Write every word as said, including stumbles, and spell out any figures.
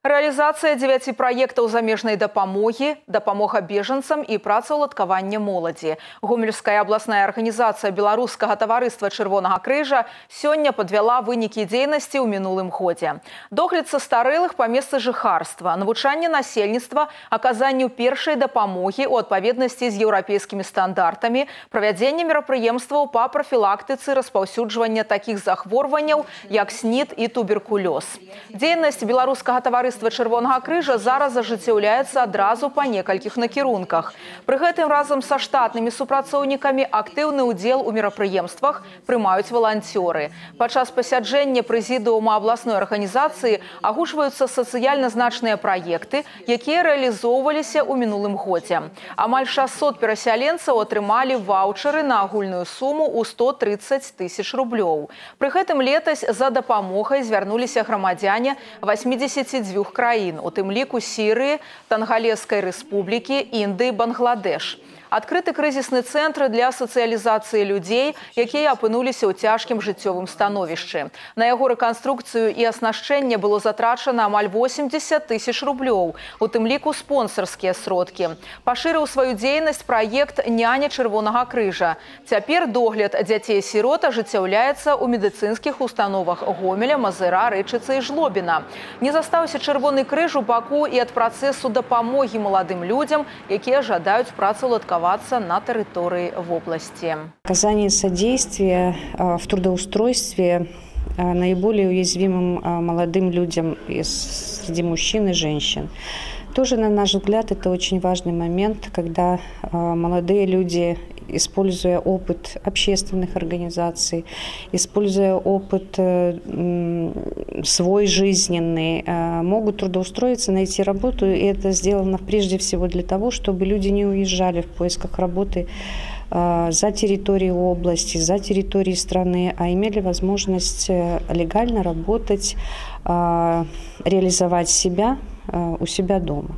Реализация девяти проектов замежной дапамоги, дапамога беженцам и працаўладкавання моладзі. Гомельская областная организация Белорусского товариства Червонага крыжа сёння подвяла вынікі дзейнасці ў мінулым годзе. Догляд са старэлых па месцы жыхарства, навучанне насельніцтва, аказанню першай дапамогі ў адпаведнасці з еўрапейскімі стандартамі, правядзенне мерапрыемстваў па прафілактыцы распаўсюджвання такіх захворванняў, як снід і туберкулёз. Дзейнасць Белорусского товариства Червонага крыжа зараз ажыццяўляецца адразу па некалькіх накірунках. Пры гэтым разам са штатнымі супрацоўнікамі актыўны ўдзел у мерапрыемствах прымаюць валанцёры. Падчас пасяджэння прэзідыума абласной арганізацыі агучваюцца сацыяльна значныя праекты, якія рэалізоўваліся ў мінулым годзе. Амаль шасцьсот перасяленцаў атрымалі ваўчары на агульную суму ў сто трыццаць тысяч рублёў. Пры гэтым летась за дапамогай звярнуліся грамадзяне васьмідзесяці дзвюх краін, у тым ліку Сірыі, Тангалескай рэспублікі, Індыі, Бангладеш. Адкрыты крызісны цэнтр для сацыялізацыі людзей, якія апынуліся ў цяжкім жыццёвым становішчы. На яго рэканструкцыю і аснашчэнне было затрачана амаль восемьдесят тысяч рублёў, у тым ліку спонсарскія сродкі. Пашырыў сваю дзейнасць праект «Няня Чырвонага крыжа». Цяпер догляд дзяцей-сірот ажыццяўляецца ў медыцынскіх установах Гомеля, Мазыра, Рэчыцы і Жлобіна. Не застаўся Чырвоны крыж у баку і ад працэсу дапамогі маладым людзям, якія жадаюць працаўладкавацца на территории в области. Оказание содействия в трудоустройстве наиболее уязвимым молодым людям среди мужчин и женщин. Тоже, на наш взгляд, это очень важный момент, когда молодые люди, используя опыт общественных организаций, используя опыт свой жизненный, могут трудоустроиться, найти работу. И это сделано прежде всего для того, чтобы люди не уезжали в поисках работы за территорией области, за территорией страны, а имели возможность легально работать, реализовать себя у себя дома.